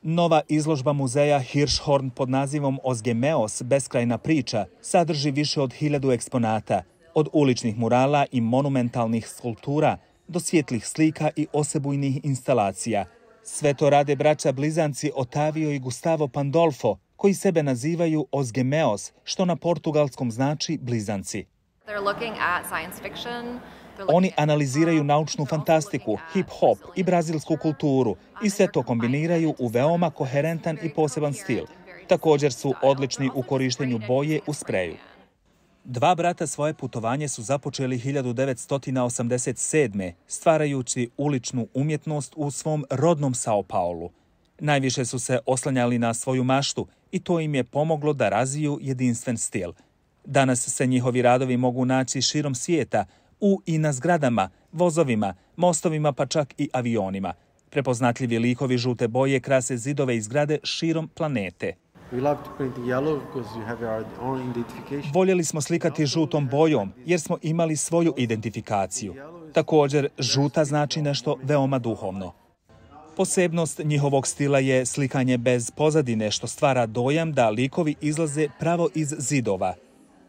Nova izložba muzeja Hirschhorn pod nazivom Osgemeos, beskrajna priča, sadrži više od 1000 eksponata, od uličnih murala i monumentalnih skulptura do svjetlih slika i osebujnih instalacija. Sve to rade braća blizanci Otavio i Gustavo Pandolfo, koji sebe nazivaju Osgemeos, što na portugalskom znači blizanci. Oni analiziraju naučnu fantastiku, hip-hop i brazilsku kulturu i sve to kombiniraju u veoma koherentan i poseban stil. Također su odlični u korištenju boje u spreju. Dva brata svoje putovanje su započeli 1987. stvarajući uličnu umjetnost u svom rodnom Sao Paulu. Najviše su se oslanjali na svoju maštu i to im je pomoglo da razviju jedinstven stil. Danas se njihovi radovi mogu naći širom svijeta, i na zgradama, vozovima, mostovima pa čak i avionima. Prepoznatljivi likovi žute boje krase zidove i zgrade širom planete. Voljeli smo slikati žutom bojom jer smo imali svoju identifikaciju. Također, žuta znači nešto veoma duhovno. Posebnost njihovog stila je slikanje bez pozadine, što stvara dojam da likovi izlaze pravo iz zidova.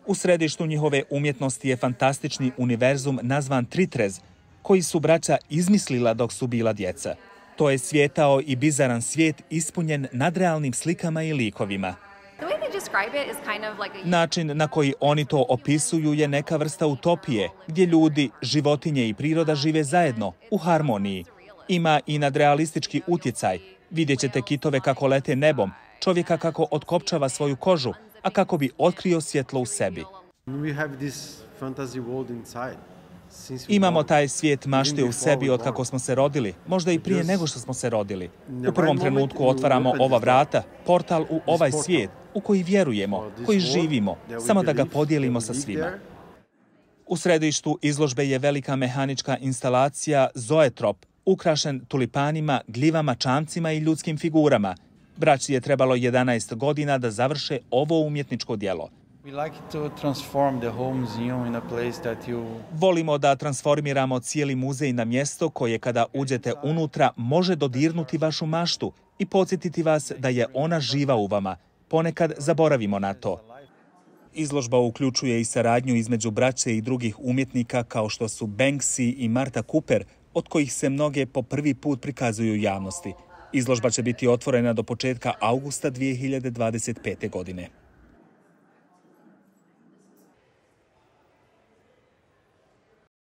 U središtu njihove umjetnosti je fantastični univerzum nazvan Tritrez, koji su braća izmislila dok su bila djeca. To je svijetao i bizaran svijet ispunjen nadrealnim slikama i likovima. Način na koji oni to opisuju je neka vrsta utopije, gdje ljudi, životinje i priroda žive zajedno, u harmoniji. Ima i nadrealistički utjecaj. Vidjet ćete kitove kako lete nebom, čovjeka kako otkopčava svoju kožu, a kako bi otkrio svjetlo u sebi. Imamo taj svijet mašte u sebi od kako smo se rodili, možda i prije nego što smo se rodili. U prvom trenutku otvaramo ova vrata, portal u ovaj svijet u koji vjerujemo, koji živimo, samo da ga podijelimo sa svima. U središtu izložbe je velika mehanička instalacija Zoetrop, ukrašen tulipanima, gljivama, čamcima i ljudskim figurama. Braći je trebalo 11 godina da završe ovo umjetničko djelo. Volimo da transformiramo cijeli muzej na mjesto koje kada uđete unutra može dodirnuti vašu maštu i podsjetiti vas da je ona živa u vama. Ponekad zaboravimo na to. Izložba uključuje i saradnju između braće i drugih umjetnika kao što su Banksy i Marta Cooper, od kojih se mnoge po prvi put prikazuju javnosti. Izložba će biti otvorena do početka avgusta 2025. godine.